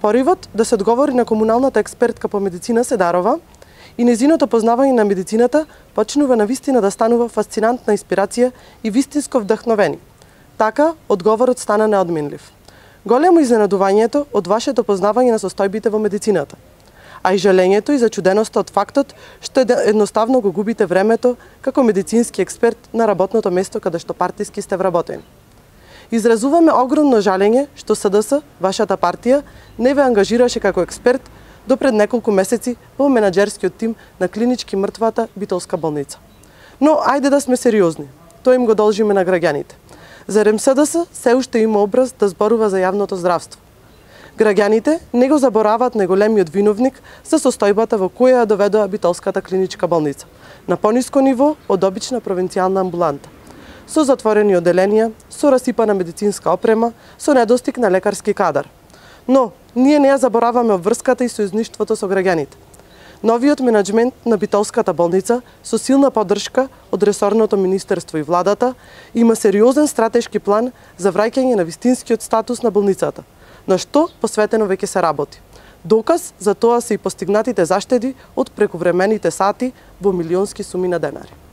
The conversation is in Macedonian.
Поривот да се одговори на комуналната експертка по медицина Седарова и нејзиното познавање на медицината почнува на вистина да станува фасцинантна инспирација и вистинско вдахновени. Така, одговорот стана неодменлив. Големо изненадувањето од вашето познавање на состојбите во медицината, а и жалењето и зачуденоста од фактот што едноставно го губите времето како медицински експерт на работното место каде што партиски сте вработени. Изразуваме огромно жалење што СДС, вашата партија, не ве ангажираше како експерт до пред неколку месеци во менаџерскиот тим на клинички мртвата Битолска болница. Но ајде да сме сериозни. Тоа им го должиме на граѓаните. Зарем СДС се уште има образ да зборува за јавното здравство. Граѓаните не го забораваат најголемиот виновник за состојбата во која ја доведоа Битолската клиничка болница, на пониско ниво од обична провинцијална амбуланта, со затворени оделенија, со расипана медицинска опрема, со недостиг на лекарски кадар. Но, ние не ја забораваме обврската и сојузништвото со граѓаните. Новиот менаџмент на Битолската болница, со силна поддршка од ресорното министерство и владата, има сериозен стратешки план за враќање на вистинскиот статус на болницата, на што посветено веќе се работи. Доказ за тоа се и постигнатите заштеди од прековремените сати во милионски суми на денари.